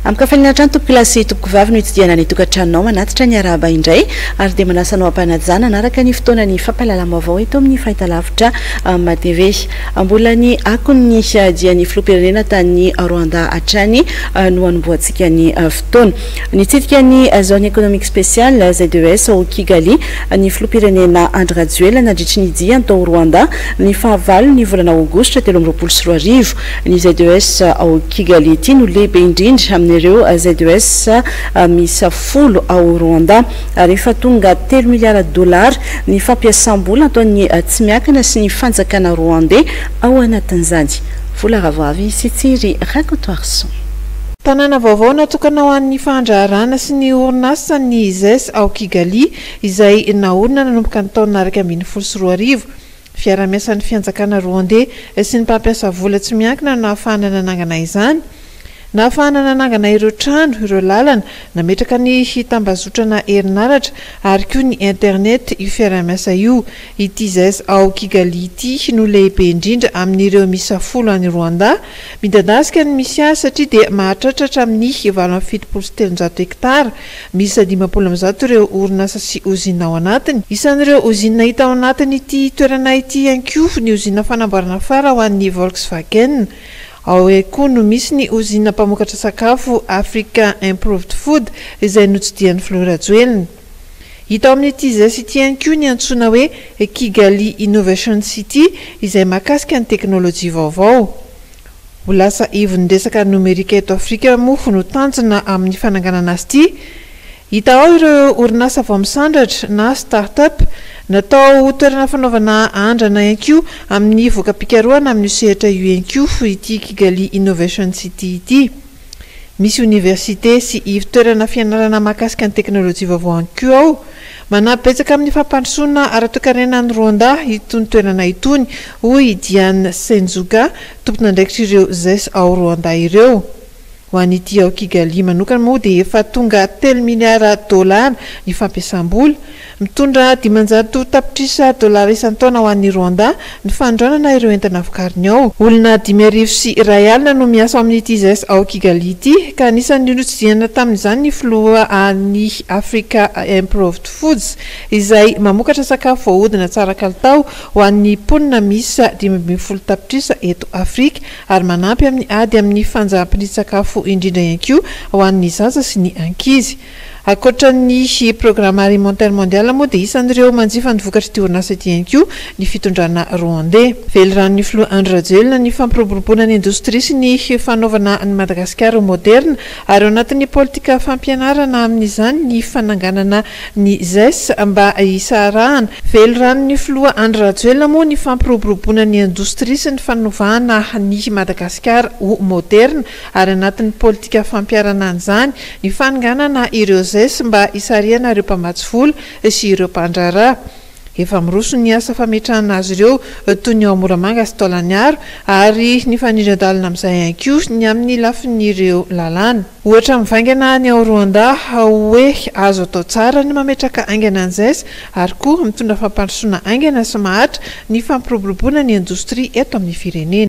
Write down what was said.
Amin-kafaliana hatrany tompokolahy sy tompokovavy no hitsidihana ny tokantranonao manatitra ny arahaba indray ary dia manasa anao am-panajana hanaraka ny fotoanan'ny fampahalalam-baovao eto amin'ny fahitalavitra MATV. Mbola ny akon'ny dian'ny filoham-pirenena tany Rwanda hatrany no hanombohantsika ny fotoana. Nitsidika ny Zone Economique Spéciale, ZES, ao Kigali ny filoham-pirenena Andry Rajoelina nandritry ny diany tao Rwanda ny fahavalo ny volana aogositra 2023. Ny ZES ao Kigali ity no lehibe indrindra amin'ireo ZES miisa 10 ao Rwanda ary efa tonga telo miliara dolara ny fampiasam-bola ataon'ny tsy miankina sy ny fanjakana Rwandais ao anatin'izany. Vola Ravoavy sy Tsiry Rakotoarison. Tanàna vaovao natokana ho an'ny fandraharahana sy ny orinasa ny ZES ao Kigali, izay naorina nanomboka ny taona 2011. Fiarahamiasan'ny fianjakana Rwandais sy ny mpampiasa vola tsy miankina no nahafahana nanangana izany. Nahafahana nanangana ireo trano, ireo lalana, nametraka ny tambazotrana herinaratra ary koa ny internet io fiarahamiasa io. Ity ZES ao Kigali ity no lehibe indrindra amin'ireo miisa 10 any Rwanda. Midadasika ny misy azy satria dia mahatratra hatramin'ny 378 hektara. Miisa 150 ireo orinasa sy ozinina ao anatiny. Isan'ireo ozinina hita ao anatin'ity toerana ity ihany koa ny ozinina fanamboarana fara ho an'ny Volkswagen. Ao ihany koa no misy ny ozinina mpamokatra sakafo Africa Improved Food izay notsidihan'ny filoha Rajoelina. Hita ao amin'ity ZES ity ihany koa ny antsoina hoe Kigali Innovation City izay mahakasika ny teknolojia vaovao. Ho lasa ivon'ny resaka nomerika eto Afrika moa no tanjona amin'ny fananganana azy ity. Hita ao ireo orinasa vao misandratra na start-up. Natao ho toerana fanaovana andrana ihany koa amin'ny voka-pikarohana amin'io sehatra io ihany koa ity Kigali Innovation City ity. Misy oniversite sy ivon-toerana fianarana mahakasika ny teknolojia vaovao ihany koa ao. Manampy betsaka amin'ny fampandrosoana ara-toekarena an'i Rwanda itony toerana itony, hoy i Diane Senzoga, tompon'andraikitr'ireo ZES ao Rwanda ireo. Ho an'ity ao Kigali manokana moa dia efa tonga telo miliara dolara ny fampiasam-bola. Mitondra 500 tapitrisa dolara isan-taona ho an'i Rwanda ny fanondranana ireo entana vokariny ao. Olona 105 000 no miasa ao amin'ity ZES ao Kigali ity, ka anisan'ny notsidihana tamin'izany ny filoha an'ny Africa Improved Foods, izay mamokatra sakafo voahodina tsara kalitao ho an'ny mponina miisa 15 tapitrisa eto Afrika ary manampy amin'ny ady amin'ny fanjaham-pindrin-tsakafo indrindra ihany koa ho an'ny zaza sy ny ankizy. Ankoatra ny Programme Alimentaire Mondial moa dia isan'ireo manjifa ny vokatr'ity orinasa ity ihany koa ny fitondrana Rwandais. Veliranon'ny filoha Andry Rajoelina ny fampiroboroboana ny indostria sy ny fanaovana an'i Madagasikara ho moderna ary ao anatin'ny politika fampianarana amin'izany ny fananganana ny ZES mba hisaharahana. Veliranon'ny filoha Andry Rajoelina moa ny fampiroboroboana ny indostria sy ny fanovana an'i Madagasikara ho moderna ary anatin'ny politika fampiharana an'izany ny fanonganana ireo ZES mba hisarihana ireo mpamatsy vola sy ireo mpandraharaha. Efa miroso ny asa fametrahana azy ireo toy ny ao Moramanga sy Taolagnaro ary ny fanindran-dalana amin'izay ihany koa ny amin'ny lafin'ireo lalàna. Ohatra mivaingana ny ao Rwanda hoe azo atao tsara ny mametraka haingana ny ZES ary koa mitondra fampandrosoana haingana sy maharitra ny fampiroboroboana ny indostria eto amin'ny firenena.